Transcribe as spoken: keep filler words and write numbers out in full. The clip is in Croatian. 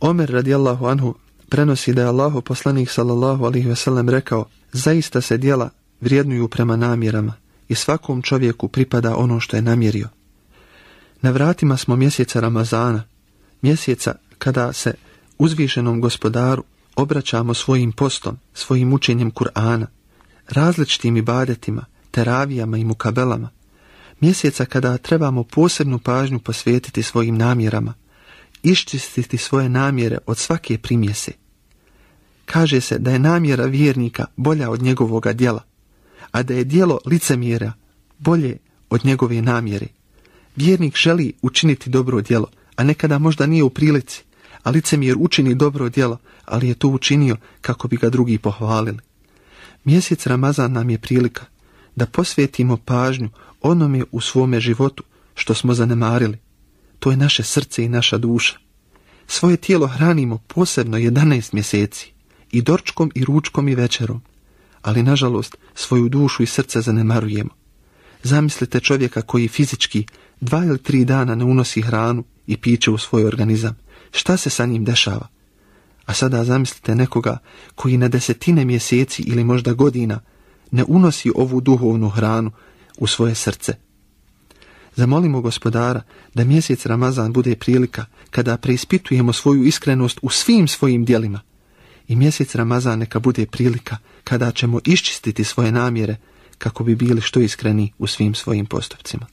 Omer radijallahu anhu prenosi da je Allahov poslanik sallallahu alejhi ve sellem rekao: zaista se djela vrijednuju prema namjerama i svakom čovjeku pripada ono što je namjerio. Na vratima smo mjeseca Ramazana, mjeseca kada se uzvišenom Gospodaru obraćamo svojim postom, svojim učenjem Kur'ana, različitim ibadetima, teravijama i mukabelama, mjeseca kada trebamo posebnu pažnju posvetiti svojim namjerama, iščistiti svoje namjere od svake primjese. Kaže se da je namjera vjernika bolja od njegovoga djela, a da je djelo licemjera bolje od njegove namjere. Vjernik želi učiniti dobro djelo, a nekada možda nije u prilici, a licemjer učini dobro djelo, ali je to učinio kako bi ga drugi pohvalili. Mjesec Ramazan nam je prilika da posvetimo pažnju onome u svome životu što smo zanemarili. To je naše srce i naša duša. Svoje tijelo hranimo posebno jedanaest mjeseci, i dorčkom i ručkom i večerom, ali nažalost svoju dušu i srce zanemarujemo. Zamislite čovjeka koji fizički dva ili tri dana ne unosi hranu i piće u svoj organizam. Šta se sa njim dešava? A sada zamislite nekoga koji na desetine mjeseci ili možda godina ne unosi ovu duhovnu hranu u svoje srce. Zamolimo Gospodara da mjesec Ramazan bude prilika kada preispitujemo svoju iskrenost u svim svojim djelima. I mjesec Ramazan neka bude prilika kada ćemo iščistiti svoje namjere kako bi bili što iskreni u svim svojim postupcima.